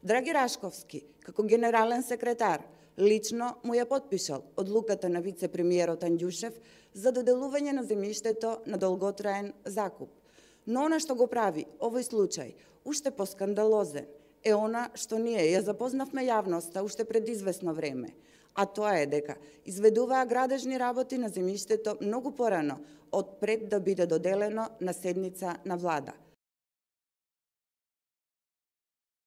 Драги Рашковски, како генерален секретар, лично му ја потпишал одлуката на вице-премиерот Анѓушев за доделување на земјиштето на долготраен закуп. Но она што го прави овој случај уште поскандалозен е она што ние ја запознавме јавноста уште пред известно време, а тоа е дека изведуваа градежни работи на земјиштето многу порано од пред да биде доделено на седница на влада.